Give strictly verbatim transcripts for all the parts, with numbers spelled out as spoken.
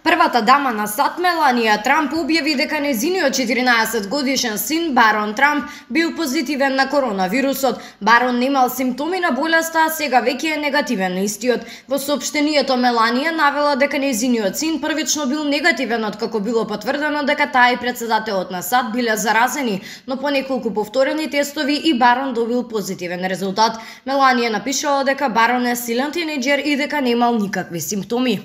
Првата дама на САД Меланија Трамп објави дека нејзиниот четиринаесет годишен син Барон Трамп бил позитивен на коронавирусот. Барон немал симптоми на болеста, а сега веќе е негативен на истиот. Во соопштението Меланија навела дека нејзиниот син првично бил негативен откако било потврдено дека таа и председателот на САД биле заразени, но по неколку повторени тестови и Барон добил позитивен резултат. Меланија напишала дека Барон е силен тинејџер и дека немал никакви симптоми.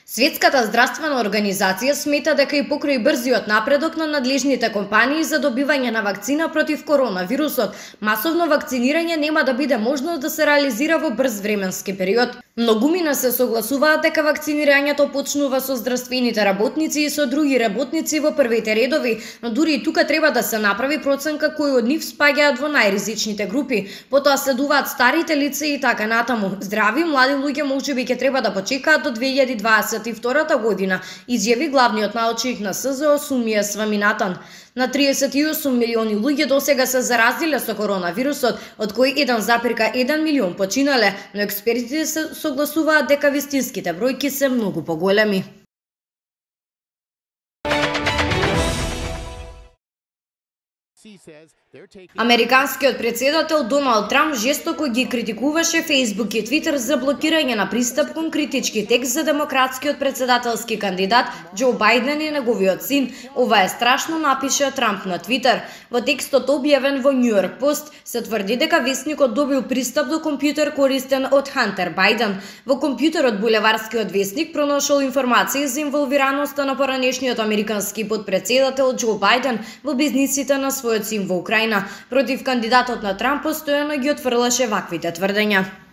Светската здравствена организација смета дека и покрај брзиот напредок на надлежните компании за добивање на вакцина против коронавирусот, масовно вакцинирање нема да биде можно да се реализира во брз временски период. Многумина се согласуваат дека вакцинирањето почнува со здравствените работници и со други работници во првите редови, но дури и тука треба да се направи проценка кои од нив спаѓаат во најризичните групи. Потоа следуваат старите лица и така натаму. Здрави млади луѓе можеби ќе треба да почекаат до две илјади дваесет и втората година, изјави главниот научник на С З О Сумија Сваминатан. На триесет и осум милиони луѓе досега се заразиле со коронавирусот, од кои еден запирка еден милион починале, но експертите се согласуваат дека вистинските бројки се многу поголеми. Американскиот председател Доналд Трамп жестоко ги критикуваше Фејсбук и Твитер за блокирање на пристап кон критички текст за демократскиот председателски кандидат Џо Бајден и неговиот син. Ова е страшно, напиша Трамп на Твитер. Во текстот објавен во Нью Йорк Пост се тврди дека весникот добил пристап до компјутер користен од Хантер Бајден. Во компјутерот булеварскиот весник пронашол информации за инволвираноста на поранешниот американски потпредседател Џо Бајден во бизнисите на својот син во Украина. Против кандидатот на Трамп постојано ги отфрлаше ваквите тврдења.